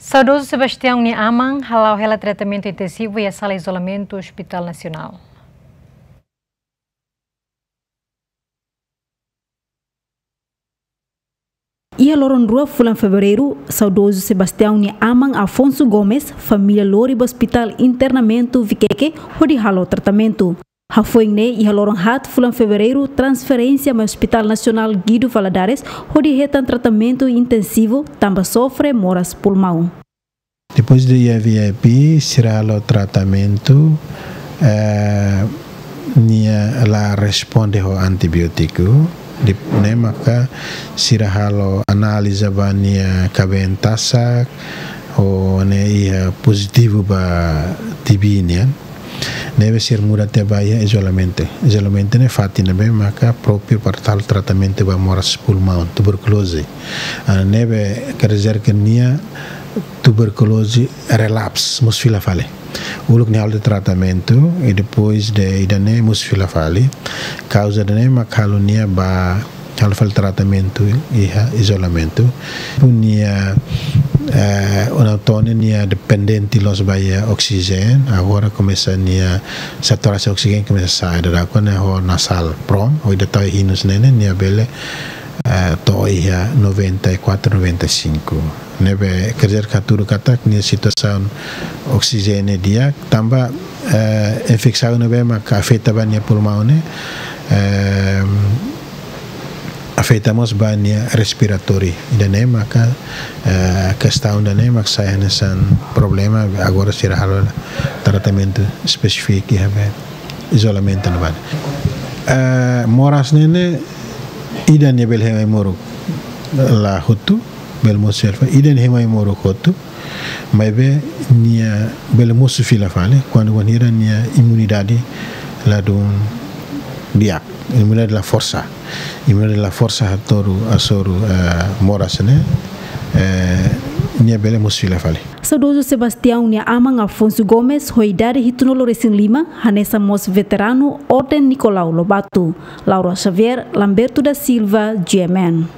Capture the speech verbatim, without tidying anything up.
Saudozu Sebastião nia aman hala'o hela tratamentu intensivu iha sala izolamentu Hospital Nasionál. Iha loron rua fulan Fevereiru, saudozu Sebastião nia aman Afonso Gomes, família lori ba Hospital Internamentu Viqueque, hodi halo tratamentu. Hafoin ne'e, iha loron haat fulan Fevereiru, transferénsia mai Hospital Nasionál Guido Valadares, hodi hetan tratamentu intensivu, tanba sofre moras pulmaun. Depois de iha V I P, sira halo tratamentu, eh, nia la responde ho antibiótiku. Depois ne'e maka sira halo análize ba nia kabeen tasak, ho ne'e iha pozitivu ba T B nian. Ne'ebé sira muda tiha ba iha izolamentu. Izolamentu ne'e fatin ne'ebé maka própriu para halo tratamentu ba moras pulmaun, tuberkuloze. Ah, ne'ebé quer dizer que nia tuberkuloze relapse, mosu fila fali. Uluk nia halo tratamentu, i depois de ida-ne'e mosu fila fali. Kauza ida-ne'e mak halo nia ba, halo fali tratamentu iha izolamentu. Nia, eh, ona tone nia dependente loos ba iha oksijéniu, agora komesa nia saturasaun oksijéniu komesa sa'e, dadauk ne'e ho nasal prom, ho ida tau hinus ne'e ne'e, nia bele, eh, to'o iha noventa e quatro, noventa e cinco. Ne'ebé quer dizer que hatudu katak nia situasaun oksijéniu di'ak, tanba, eh, infesaun ne'ebé maka afeta ba nia pulmaun ne'e, eh, afeta mós ba nia respiratóriu. Ida-ne'e maka, eh, kestaun ida-ne'e maka sai hanesan problema, agora sira halo tratamentu espesífiku iha be izolamentu ne'ebá. Eh, moras ne'e ne'e ida nia bele hemu ai-moruk la hotu, bele mosu fila fali, ida nia hemu ai-moruk hotu, maibé nia bele mosu fila fali, kuandu wainhira nia imunidade ladún di'ak, imunidade la forsa. Imunidade la forsa hatoru hasoru, eh, moras ne'e, eh, nia bele mosu fila fali. Saudozu Sebastião nia aman Afonso Gomes, ho idade hitunulu resin lima, hanesan mós veteranu Orden Nicolau Lobato. Laura Xavier, Lamberto da Silva, G M N.